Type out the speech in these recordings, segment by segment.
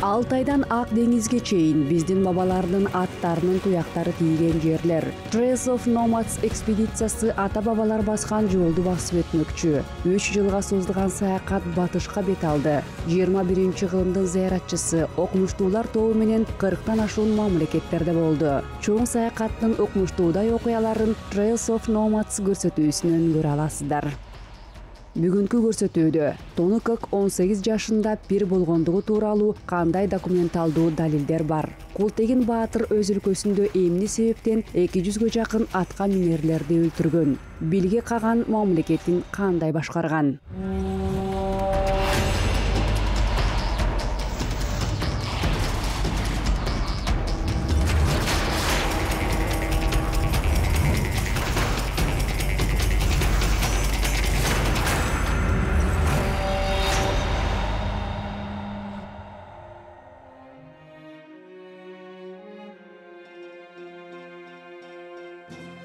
Алтайдан Ак деңизге чейин биздин бабалардын аттарынын туяктары тийген жерлер. Trails of Nomads экспедициясы ата-бабалар баскан жолду басып өтмөкчү. 3 жылга созулган саякат батышка бет алды. 21-кылымдын зыяратчысы окумуштуулар тобу менен 40тан ашуун мамлекеттерде болду. Чоң саякаттын окумуштуудай окуяларын Trails of Nomads көрсөтүүсүнөн көрө аласыздар. Бүгүнкү көрсөтүүдө Тоныкөк 18 жашында пир болгондугу тууралуу кандай документалдуу далилдер бар? Култегин баатыр өз өлкөсүндө эмне себептен 200гө жакын атка минерлерди өлтүргөн? Билге Каган мамлекетин кандай башкарган?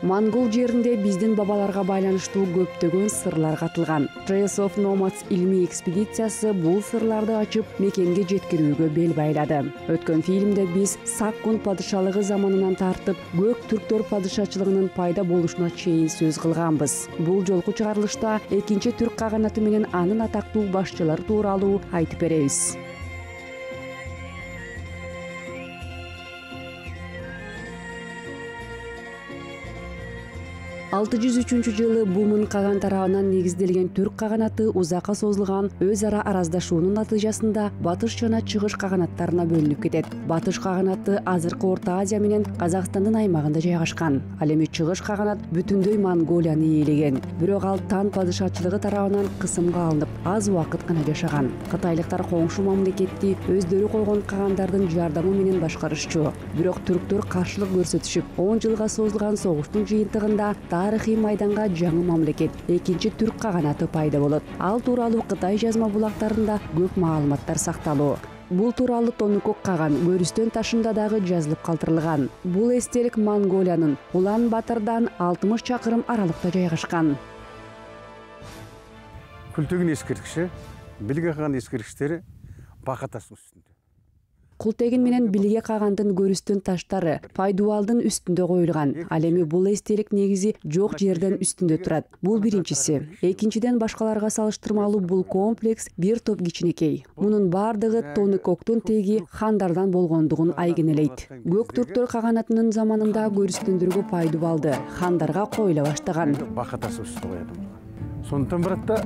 Монгол жеринде биздин бабаларга байланыштуу көптөгөн сырлар катылган. Trails of Nomads илмий экспедициясы бул сырларды ачып, мекенге жеткирүүгө бел байлады. Өткөн фильмде биз Саккун падышалыгы заманынан тартып, Көк түрктөр падышачылыгынын пайда болушуна чейин сөз кылганбыз. Бул жолку чыгарылышта экинчи түрк каганаты менен анын атактуу башчылары тууралуу айтып беребиз. 603-жылы Бумун каган тарабынан негизделген түрк каганаты узакка созулган өз ара араздашуунун натыйжасында батыш жана чыгыш каганаттарына бөлүнүп кетет. Батыш каганаты азыркы Орто Азия менен Казакстандын аймагында жайгашкан. Ал эми чыгыш каганат бүтүндөй Монголияны ээлеген. Бирок ал Тан падышачылыгы тарабынан кысымга алынып, аз убакыт гана жашаган. Кытайлыктар коңшу мамлекетти өздөрү койгон кагандардын жардамы менен башкарышчу. Бирок түрктөр каршылык көрсөтүшүп, 10 жылга созулган согуштун жыйынтыгында тарыхый майданга жаңы мамлекет, экинчи түрк каганаты пайда болот. Ал тууралуу Кытай жазма булактарында көп маалыматтар сакталуу. Бул тууралуу Тоныкөк каган Көрүстөн ташында дагы жазылып калтырылган. Бул эстелик Монголиянын Улан-Батырдан 60 чакырым аралыкта жайгашкан. Култегин эскерткичи, Билге Каган эскерткичтери Бака таштын үстүндө. Култегин менен Билге Кагандын Көрүстөн таштары Пайдубалдын үстүндө коюлган. Ал эми бул эстелик негизи жок жерден үстүндө турат. Бул биринчиси. Экинчиден, башкаларга салыштырмалуу бул комплекс бир топ кичинекей. Мунун бардыгы Тоныкөктүн теги хандардан болгондугун айгинелейт. Көк түрктөр каганатынын заманында Көрүстөндөргө Пайдубалды хандарга коюла баштаган. Бака таштын үстүндө коёду. Сонтон баратта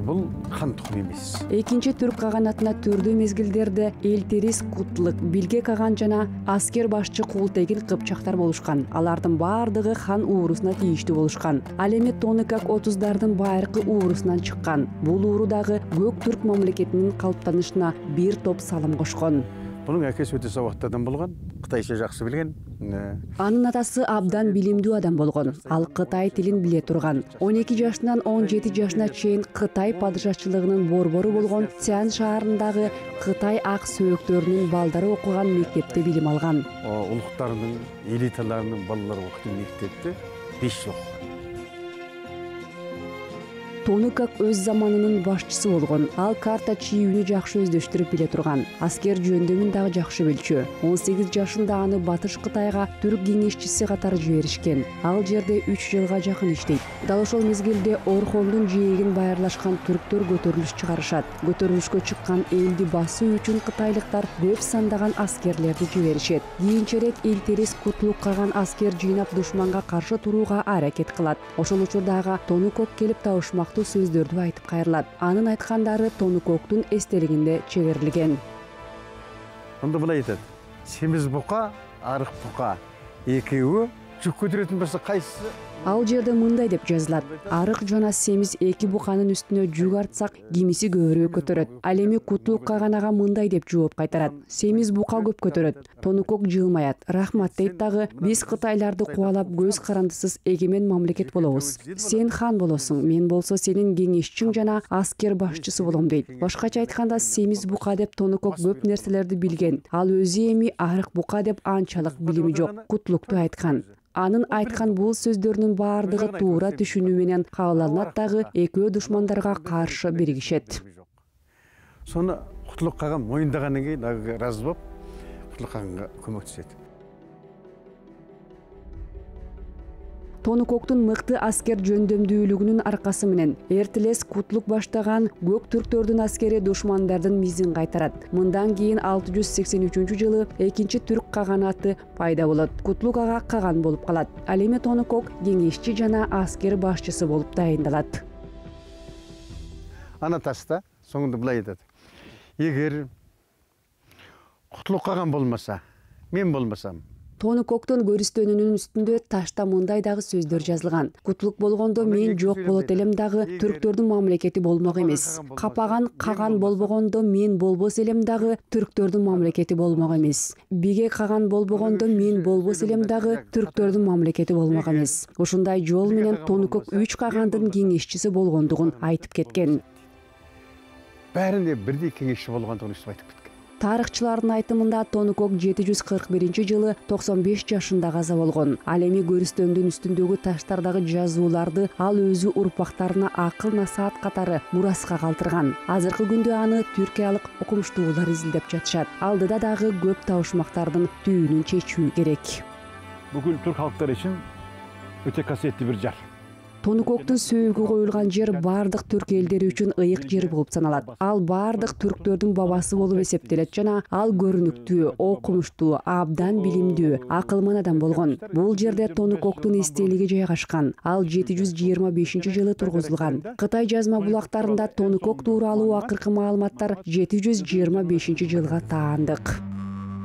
бул хан тукуму эмес. Экинчи түрк каганатына түрдүү мезгилдерде Элтерис Кутлык, Билге Каган жана аскер башчы Култегин кыпчактар болушкан. Алардын бардыгы хан уурусуна тийиштүү болушкан. Ал эми Тоныкөк 30дардын байыркы уурусунан чыккан. Бул ууру дагы Көк түрк мамлекетинин калыптанышына бир топ салым кошкон. Bunun әкесі өте сабақты адам болған, Қытайша жақсы білген. Анын атасы абдан билимдүү адам болгон. Ал Кытай тилин биле турган. 12 жашынан 17 жашына чейин Кытай падышачылыгынын борбору болгон Цян шаарындагы Кытай ак сөөктөрүнүн балдары окуган мектепте билим алган. Улуктарынын, элиталарынын балалары окуган мектепте 5 жыл окуган. Тоныкөк өз заманынын башчысы болгон. Ал карта чийүүнү жакшы өздөштүрүп биле турган. Аскер жөндөмүн дагы жакшы билчү. 18 жашында аны Батыш Кытайга түрк кеңешчиси катары жиберишкен. Ал жерде 3 жылга жакын иштейт. Дал ошол мезгилде Орхондун жээгин байырлашкан түрктөр көтөрүлүш чыгарышат. Көтөрүлүшкө чыккан элди басуу үчүн кытайлыктар көп сандаган аскерлерди жиберишет. Кийинчерээк Элтерис Кутлук Каган аскер жыйнап душманга каршы турууга аракет кылат. Ошол учурдагы Тоныкөк келип табышмак сөздөрдү айтып кайрылат. Анын айткандары Тоныкөктүн эстелигинде чегерилген. Онда былай айтат: семиз бука, арык бука экөө жүк көтөрөтүн болсо кайсысы? Ал жерде мындай деп жазылат: арык жана семиз эки буканын үстүнө жүк артсак, кимиси көбүрөөк көтөрөт. Ал эми Кутлук Каганага мындай деп жооп кайтарат: семиз бука көп көтөрөт. Тоныкөк жылмаят. Рахмат дейт дагы: биз кытайларды кубалап көз карандысыз эгемен мамлекет болобуз. Сен хан болосуң, мен болсо сенин кеңешчиң жана аскер башчысы болом дейт. Башкача айтканда, семиз бука деп Тоныкөк көп нерселерди билген. Ал өзү эми арык бука деп анчалык билими жок. Кутлукту айткан. Анын айткан бул сөздөрүнүн бардыгы туура түшүнүү менен кабыл алынат дагы, экөө душмандарга каршы биригишет. Соны Кутулук каган мойындагандан кийин ыраазы болуп Кутулук каганга көмөктөшөт. Тонукоктун мыкты аскер жөндөмдүүлүгүнүн аркасы менен эртелес Кутулук баштаган көк түрктөрдүн аскери душмандардын мизин кайтарат. Мындан кийин 683-жылы экинчи түрк каганаты пайда болот. Кутулук ага каган болуп калат. Ал эми Тонукок кеңешчи жана аскер башчысы болуп дайындалат. Ана таста соңунда былай айтат. Эгер Кутулук каган болмаса, мен болмасам, Тонукоктун көрүстөнүнүн үстүндө ташта мындай дагы сөздөр жазылган. Кутулук болгондо мен жок болот элем дагы түрктөрдүн мамлекети болмок эмес. Капаган каган болбогондо мен болбос элем дагы түрктөрдүн мамлекети болмок эмес. Биге каган болбогондо мен болбос элем дагы түрктөрдүн мамлекети болмок эмес. Ушундай жол менен Тонукок 3 кагандын кеңешчиси болгондугун айтып кеткен. Бәрінде бирдей кеңешчи болгондугун айтып кеткен. Тарыхчылардын айтымында Тонукок 741-жылы 95 жашында каза болгон. Ал эми көрүстөндүн үстүндөгү таштардагы жазууларды ал өзү урпактарына акыл насаат катары мураска калтырган. Азыркы күндө аны түркиялык окумуштуулар изилдеп жатышат. Алдыда дагы көп табышмактардын түйүнүн чечүү керек. Бүкүл түрк халктары үчүн өтө касиеттүү бир жар. Тонукоктун сөөгү коюлган жер бардык түрк элдери үчүн ыйык жер болуп саналат. Ал бардык түрктөрдүн бабасы болуп эсептелет жана ал көрүнүктүү, окумуштуу, абдан билимдүү, акылман адам болгон. Бул жерде Тонукоктун эстелиги жайгашкан. Ал 725-жылы тургузулган. Кытай жазма булактарында Тонукок тууралуу акыркы маалыматтар 725-жылга таандык.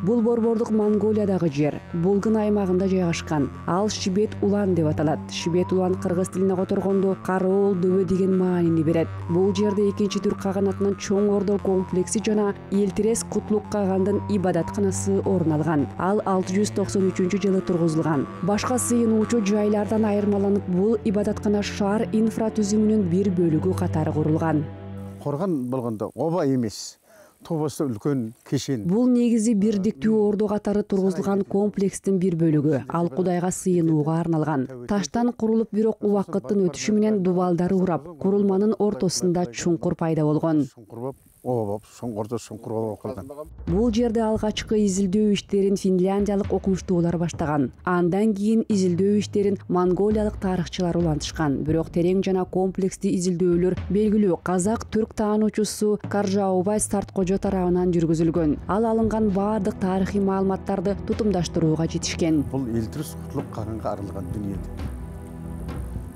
Бул борбордук Монголиядагы жер, Булгын аймагында жайгашкан. Ал Шибет улан деп аталат. Шибет улан кыргыз тилине которгондо кароол дөбө деген маанини берет. Бул жерде экинчи түрк каганатынын чоң ордо комплекси жана Элтерес Кутулук кагандын ибадатканасы орун алган. Ал 693-жылы тургузулган. Башка сыйынуучу жайлардан айырмаланып, бул ибадаткана шаар инфратүзүмүнүн бир бөлүгү катары курулган. Коргон болгондо оба эмес. Тобосто үлкөн кешен. Бул негизи бирдиктүү ордо катары тургузулган комплекстин бир бөлүгү. Ал Кудайга сыйынууга арналган. Таштан курулуп, бирок убакыттын өтүшү менен дубалдары урап, курулманын ортосунда чуңкур пайда болгон. Чуңкур болуп калган. Бул жерде алгачкы изилдөө иштерин финляндиялык окумуштуулар баштаган. Андан кийин изилдөө иштерин монголиялык тарыхчылар улантышкан. Бирок терең жана комплекстүү изилдөөлөр белгилүү казак-түрк таануучусу Каржаубай Старткожо тарабынан жүргүзүлгөн. Ал алынган баардык тарыхый маалыматтарды тутумдаштырууга жетишкен. Бул Элтерес Кутулук каганга арылган дүние.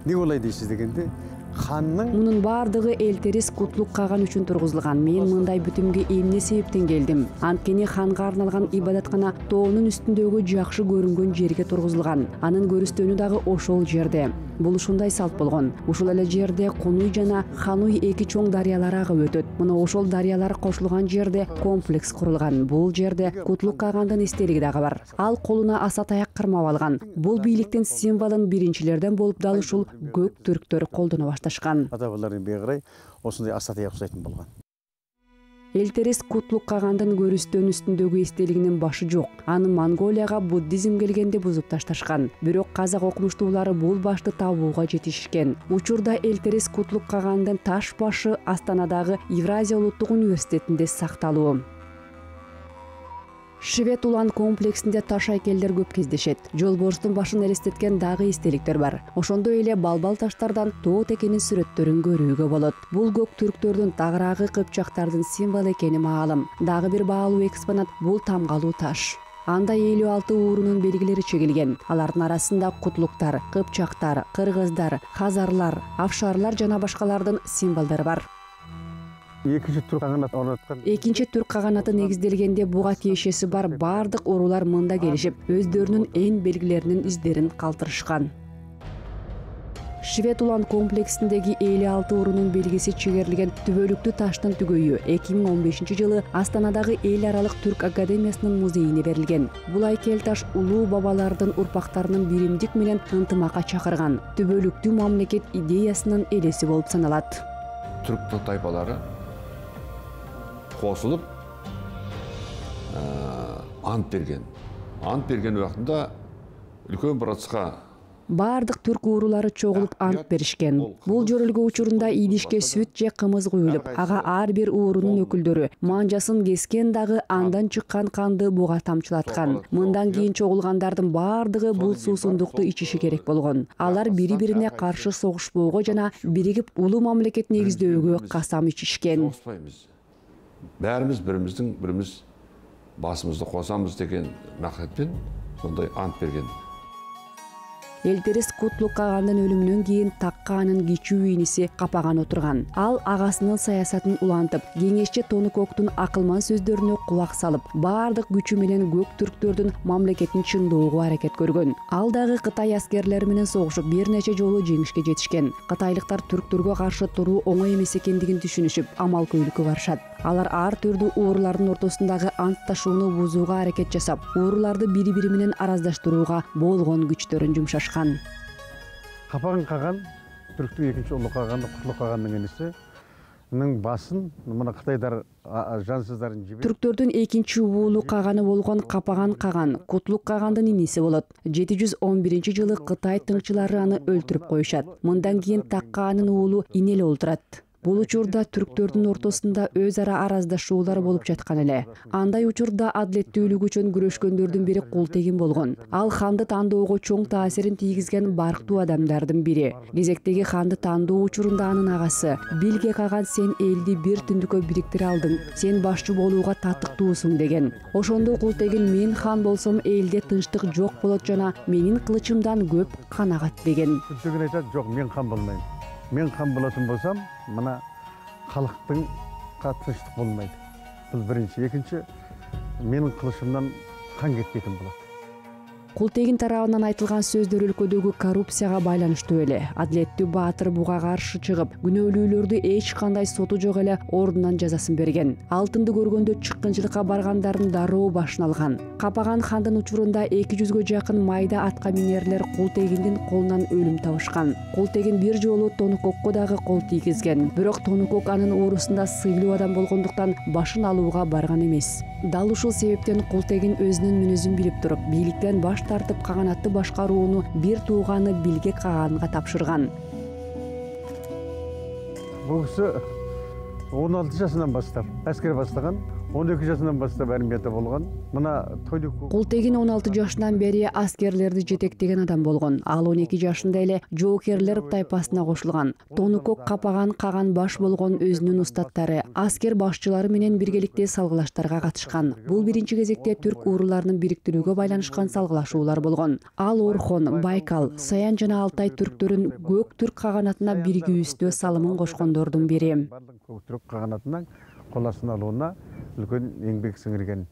Не болай дейсиз дегенде, ханның мунун баардыгы Элтерес Кутулук каган үчүн тургузулган. Мен мындай бүтүмгө эмне себептен келдим? Анткени ханга арналган ибадаткана тоонун үстүндөгү жакшы көрүнгөн жерге тургузулган. Анын көрүстөнү дагы ошол жерде. Бул ушундай салт болгон. Ушул эле жерде Кунуй жана Хануй эки чоң дарыялар агып өтөт. Мына ошол дарыялар кошулган жерде комплекс курулган. Бул жерде Кутулук кагандын эстелиги дагы бар. Ал колуна аса таяк кармап алган. Бул бийликтин символун биринчилерден болуп дал ушул көк түрктөр колдоно башташкан. Ата бабалардын бегирай осундай аса таяк жасайтын болгон. Элтерес Кутулук кагандын көрүстөн үстүндөгү эстелигинин башы жок. Аны Монголияга буддизм келгенде бузуп ташташкан. Бирок казак окумуштуулары бул башты табууга жетишкен. Учурда Элтерес Кутулук кагандын таш башы Астанадагы Евразия улуттук университетинде сакталуу. Шибет улан комплексинде таш айкелдер көп кездешет. Жолборстун башын элестеткен дагы эстеликтер бар. Ошондой эле балбал таштардан тоо текенин сүрөттөрүн көрүүгө болот. Бул көк түрктөрдүн тагыраагы кыпчактардын символу экени маалым. Дагы бир баалуу экспонат бул тамгалуу таш. Анда 56 уурунун белгилери чегилген. Алардын арасында кутулуктар, кыпчактар, кыргыздар, хазарлар, афшарлар жана башкалардын символдору бар. Экинчи түрк каганат орноткон. Экинчи түрк каганаты негизделгенде буга тиешеси бар бардык уруулар мында келишип, өздөрүнүн эн белгилеринин издерин калтырышкан. Шибет улан комплексиндеги 56 уурунун белгиси чегерилген түбөлүктүү таштын түгөйү 2015-жылы Астанадагы эл аралык түрк академиясынын музейине берилген. Бул айкел таш улуу бабалардын урпактарынын биримдик менен ынтымакка чакырган түбөлүктүү мамлекет идеясынын элеси болуп саналат. Түрк тайпалары косулуп ант берген. Ант берген убактында үлкөн процесска Баардык түрк уурулары чогулуп ант беришкен. Бул жөрөлгө учурунда идишке сүт же кымыз куюлуп, ага ар бир уурунун өкүлдөрү манжасын кескен дагы андан чыккан канды буга тамчылаткан. Мындан кийин чогулгандардын баардыгы бул суусундукту ичиши керек болгон. Алар бири-бирине каршы согушпоого жана биригип улуу мамлекет негиздөөгө касам ичишкен. Бәріміз біріміз басымызды қосамыз деген мақсатпен сондай ант берген. Элтерис Кутлук Кагандын өлүмүнөн кийин такка анын кичүү иниси Капаган отурган. Ал агасынын саясатын улантып, кеңешчи Тонукоктун акылман сөздөрүнө кулак салып, баардык күчү менен көк түрктөрдүн мамлекетин чыңдоого аракет көргөн. Ал дагы Кытай аскерлери менен согушуп, бир нече жолу жеңишке жетишкен. Кытайлыктар түрктөргө каршы туруу оңой эмес экендигин түшүнүшүп, амал-көйлүккө барышат. Алар ар түрдүү уурулардын ортосундагы ант ташууну бузууга аракет жасап, ууруларды бири-бири менен араздаштырууга болгон күчтөрүн жумшашкан. Капаган Каган түрктүн экинчи улуу Каганы, Кутлук Кагандын инисинин басын мына Кытайдар жансыздарын жиберип. Түрктөрдүн экинчи уулу Каганы болгон Капаган Каган Кутлук Кагандын иниси болот. 711-жылы Кытай тыңчылары аны өлтүрүп коюшат. Мындан кийин такка анын уулу ине эле олтурат. Бул учурда түрктөрдүн ортосунда өз ара араздашуулар болуп жаткан эле. Андай учурда адилеттүүлүк үчүн күрөшкөндөрдүн бири Култегин болгон. Ал ханды тандоого чоң таасирин тийгизген барктуу адамдардын бири. Кезектеги ханды тандоо учурунда анын агасы Билге Каган сен элди бир түндүккө бириктире алдың, сен башчы болууга татыктуусуң деген. Ошондо Култегин мен хан болсом элде тынчтык жок болот жана менин кылычымдан көп кан агат деген. Култегин айтат, жок, мен хан болмойм. Мен хан болотун болсам, мына халыктын тынчтык болмойт. Бул биринчи. Экинчи, менин кылычымдан кан кетпейтин болот. Култегин тарабынан айтылган сөздөр өлкөдөгү коррупцияга байланыштуу эле. Адилеттүү баатыр буга каршы чыгып, күнөөлүүлөрдү эч кандай соту жок эле ордунан жазасын берген. Алтынды көргөндө чыккынчылыкка баргандардын дароо башын алган. Капаган хандын учурунда 200гө жакын майда атка минерлер Култегиндин колунан өлүм табышкан. Култегин бир жолу Тонукокко дагы кол тийгизген. Бирок Тонукок анын уурусунда сыйлуу адам болгондуктан башын алууга барган эмес. Дал ушул себептен Култегин өзүнүн мүнөзүн билип туруп, бийликтен баш тартып каганатты башкарууну бир тууганы Билге Каганга тапшырган. Бул киши 16 жашынан баштап аскер баштаган, 12 жашынан баштап армияда болгон. Мына Култегин 16 жашынан бери аскерлерди жетектеген адам болгон. Ал 12 жашында эле жоокерлер тайпасына кошулган. Тонукок Капаган Каган баш болгон өзүнүн устаттары, аскер башчылары менен биргеликте салгылаштарга катышкан. Бул биринчи кезекте түрк ууруларынын бириктирүүгө байланышкан салгылашуулар болгон. Ал Орхон, Байкал, Саян жана Алтай түрктөрүн көк түрк каганатына биригүүсүнө салымын кошкондордун бири. Көк түрк каганатынан кол астына алууна үлкөн еңбек сиңирген.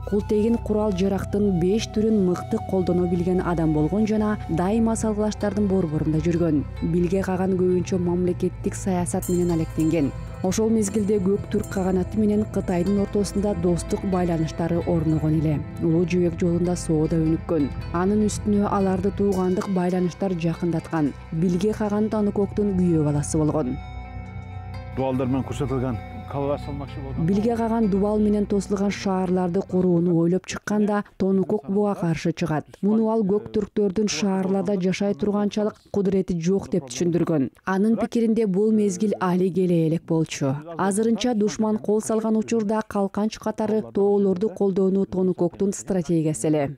Култегин курал жарактын 5 түрүн мыкты колдоно билген адам болгон жана дайыма салгылаштардын борборунда жүргөн. Билге Каган көбүнчө мамлекеттик саясат менен алектенген. Ошол мезгилде көк түрк каганаты менен Кытайдын ортосунда достук байланыштары орногон эле. Улуу жибек жолунда соода өнүккөн. Анын үстүнө аларды туугандык байланыштар жакындаткан. Билге Каган Тонукоктун күйөө баласы болгон. Дубалдар менен көрсөтүлгөн калалар салмакчы болгон. Билге Каган дубал менен тосулган шаарларды курууну ойлоп чыкканда Тонукок буга каршы чыгат. Муну ал көк түрктөрдүн шаарларда жашай турганчалык кудурети жок деп түшүндүргөн. Анын пикиринде бул мезгил али келе элек болчу. Азырынча душман кол салган учурда калканч катары тоолорду колдоону Тонукоктун стратегиясы эле.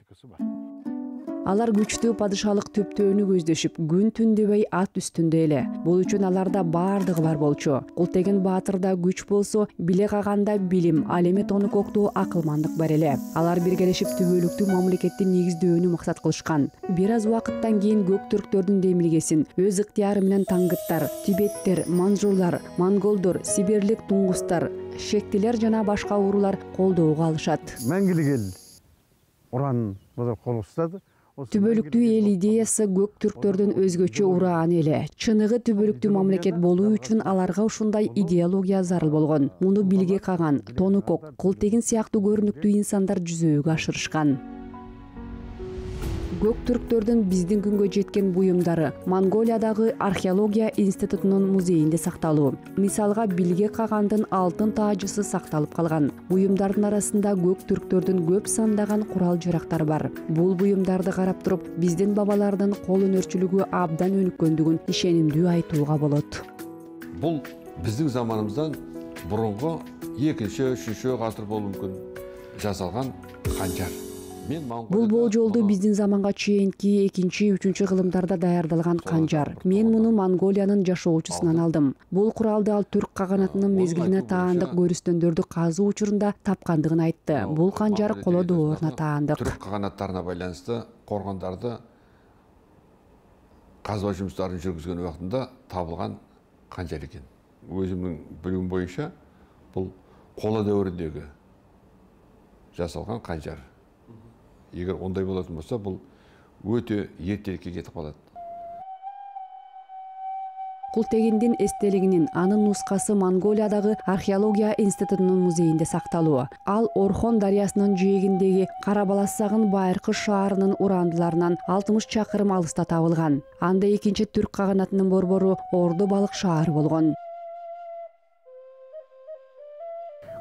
Алар күчтүү падышалык төптөөнү көздөшүп, күн түн дебей ат үстүндө эле. Бул үчүн аларда баардыгы бар болчу. Култегин баатырда күч болсо, Билге Каганда билим, ал эми Тонукокто акылмандык бар эле. Алар биргелешип түбөлүктүү мамлекетти негиздөөнү максат кылышкан. Бир аз убакыттан кийин көк түрктөрдүн демилгесин өз ыктыяры менен таңгыттар, тибеттер, манжурлар, монголдор, сибирлик туңгустар, шектилер жана башка уурулар колдоого алышат. Мәңгилик эл уран кол устады. Түбөлүктүү эл идеясы көк түрктөрдүн өзгөчө урааны эле. Чыныгы түбөлүктүү мамлекет болуу үчүн аларга ушундай идеология зарыл болгон. Муну Билге Каган, Тонукок, Култегин сыяктуу көрүнүктүү инсандар жүзөөгө ашырышкан. Көк түрктөрдүн биздин күнгө жеткен буюмдары Монголиядагы археология институтунун музейинде сакталуу. Мисалга Билге Кагандын алтын таажысы сакталып калган. Буюмдардын арасында көк түрктөрдүн көп сандаган курал жарактары бар. Бул буюмдарды карап туруп, биздин бабалардын кол өнөрчүлүгү абдан өнүккөндүгүн ишенимдүү айтууга болот. Бул биздин заманыбыздан мурунку 2-3 гасыр болушу мүмкүн жасалган канжар. Бул болжолду биздин заманга чейинки 2-3 кылымдарда даярдалган канжар. Мен муну Монголиянын жашоочусунан алдым. Бул куралды ал түрк каганатынын мезгилине таандык көрүстөндөрдү казуу учурунда тапкандыгын айтты. Бул канжар коло дооруна таандык. Түрк каганаттарына байланыштуу коргондорду казба жумуштарын жүргүзгөн убактында табылган канжар экен. Өзүмдүн билимим боюнча бул коло дәүрүндөгү жасалган канжар. Егер ондай болатын болса, бул өтө эртерээкке кетип калат. Култегиндин эстелигинин анын нускасы Монголиядагы археология институтунун музейинде сакталуу. Ал Орхон дарыясынын жээгиндеги Карабаласагын байыркы шаарынын урандыларынан 60 чакырым алыста табылган. Анда экинчи түрк каганатынын борбору Орду балык шаары болгон.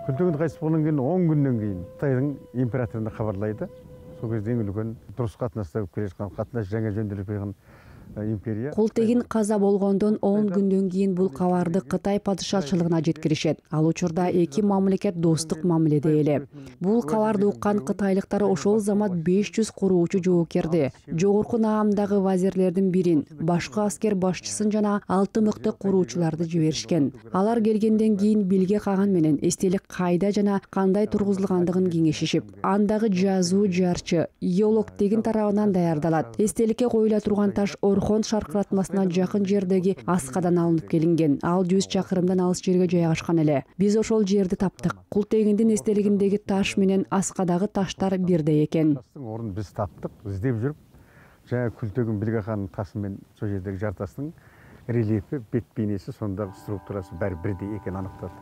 Күлтөгүн кайтып болгондон кийин 10 күндөн кийин Кытайдын императоруна кабарлайды. Сол кезде эң үлкен дурус катнаштап келе жаткан катнаш жаңа жөндөөлүп койгон империя. Култегин каза болгондон 10 күндөн кийин бул кабарды Кытай падышачылыгына жеткиришет. Ал учурда эки мамлекет достук мамиледе эле. Бул кабарды уккан кытайлыктар ошол замат 500 куруучу жоокерди, жогорку наамдагы вазирлердин бирин, башкы аскер башчысын жана 6 мыкты куруучуларды жиберишкен. Алар келгенден кийин Билге Каган менен эстелик кайда жана кандай тургузулгандыгын кеңешишип, андагы жазуу жарчы Йолоктегин тарабынан даярдалат. Эстеликке коюла турган таш Орхон шаркыратмасына жакын жердеги аскадан алынып келинген. Ал 100 чакырымдан алыс жерге жайгашкан эле. Биз ошол жерди таптык. Култегиндин эстелигиндеги таш менен аскадагы таштар бирдей экен. Орун биз таптык, издеп жүрүп, жана Күлтөгүн Билге Каганын тасы менен сол жердеги жартастын рельефи, бет бейнеси, сонда структурасы баары бирдей экенин аныктады.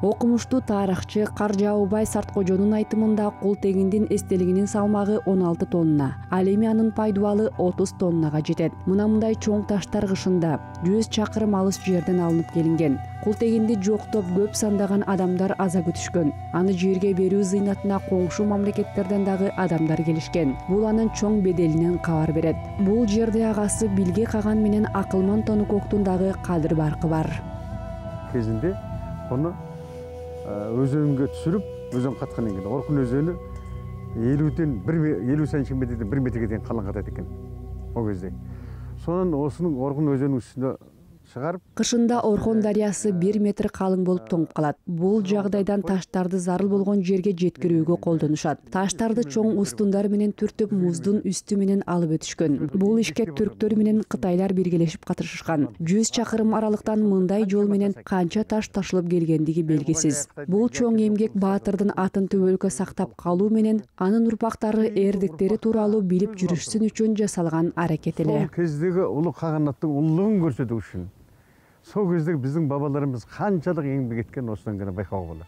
Окумуштуу тарыхчы Каржаубай Сарткожонун айтымында Култегиндин эстелигинин салмагы 16 тонна. Ал эми анын пайдубалы 30 тоннага жетет. Мындай чоң таштар кышында 100 чакырым алыс жерден алынып келинген. Култегинди жоктоп көп сандаган адамдар аза күтүшкөн. Аны жерге берүү зыйнатына коңшу мамлекеттерден дагы адамдар келишкен. Бул анын чоң беделинен кабар берет. Бул жерде агасы Билге Каган менен Акылман Тонукоктун дагы кадыр баркы бар. Кезинде аны өзөнгө түшүрүп, өзөн каткандан кийин Оркун өзөнү 50 сантиметрден 1 метрге дейин калың катат экен о кезде. Сонун осунун Оркун өзөнүнүн үстүнө чыгарып, кышында Орхон дарыясы 1 метр калың болуп тоңуп калат. Бул жагдайдан таштарды зарыл болгон жерге жеткирүүгө колдонушат. Таштарды чоң устундар менен түртүп, муздун үстү менен алып өтүшкөн. Бул ишке түрктөр менен кытайлар биргелешип катышышкан. 100 чакырым аралыктан мындай жол менен канча таш ташылып келгендиги белгисиз. Бул чоң эмгек баатырдын атын төбөлүккө сактап калуу менен анын урпактары эрдиктери тууралуу билип жүрүшсүн үчүн жасалган аракет эле. Сол кездеги улуу каганаттын улуулугун көрсөтүү үчүн сол кездеги биздин бабаларыбыз канчалык эмгек эткен осудан гана байкоого болот.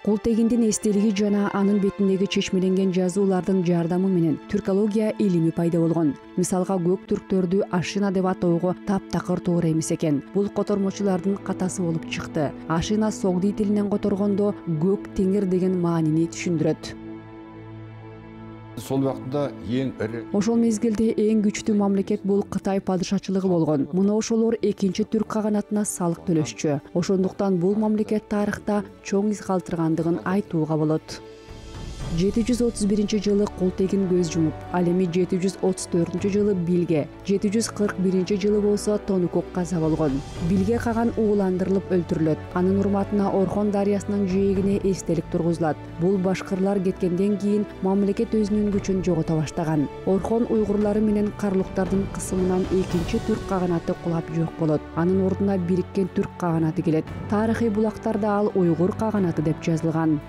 Култегиндин эстелиги жана анын бетиндеги чечмеленген жазуулардын жардамы менен түркология илими пайда болгон. Мисалга көк түрктөрдү Ашина деп атоого таптакыр туура эмес экен. Бул котормочулардын катасы болуп чыкты. Ашина согди тилинен которгондо көк теңир деген маанини түшүндүрөт. Сол убактында эң ири Ошол мезгилде эң күчтүү мамлекет бул Кытай падышачылыгы болгон. Муну ошолор экинчи түрк каганатына салык төлөшчү. Ошондуктан бул мамлекет тарыхта чоң из калтыргандыгын айтууга болот. 731 жылы Култегин көз жумуп, ал эми 734 жылы Билге, 741 жылы болсо Тонукок каза болгон. Билге Каган ууландырылып өлтүрүлөт. Анын урматына Орхон дарыясынын жээгине эстелик тургузулат. Бул башкырлар кеткенден кийин мамлекет өзүнүн күчүн жогото баштаган. Орхон уйгурлары менен карлуктардын кысымынан экинчи түрк каганаты кулап жок болот. Анын ордуна бириккен түрк каганаты келет. Тарыхый булактарда ал уйгур каганаты деп жазылган.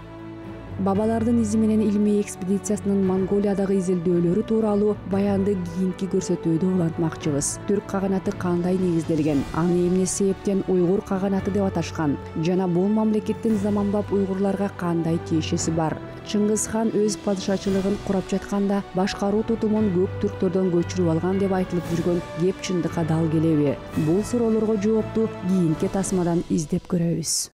Бабалардын изи менен илмий экспедициясынын Монголиядагы изилдөөлөрү тууралуу баянды кийинки көрсөтүүдө улантмакчыбыз. Түрк каганаты кандай негизделген, аны эмне себептен уйгур каганаты деп аташкан жана бул мамлекеттин заманбап уйгурларга кандай тиешеси бар? Чыңгыз хан өз падышачылыгын курап жатканда башкаруу тутумун көк түрктөрдөн көчүрүп алган деп айтылып жүргөн кеп чындыкка дал келеби? Бул суроолорго жоопту кийинки тасмадан издеп көрөбүз.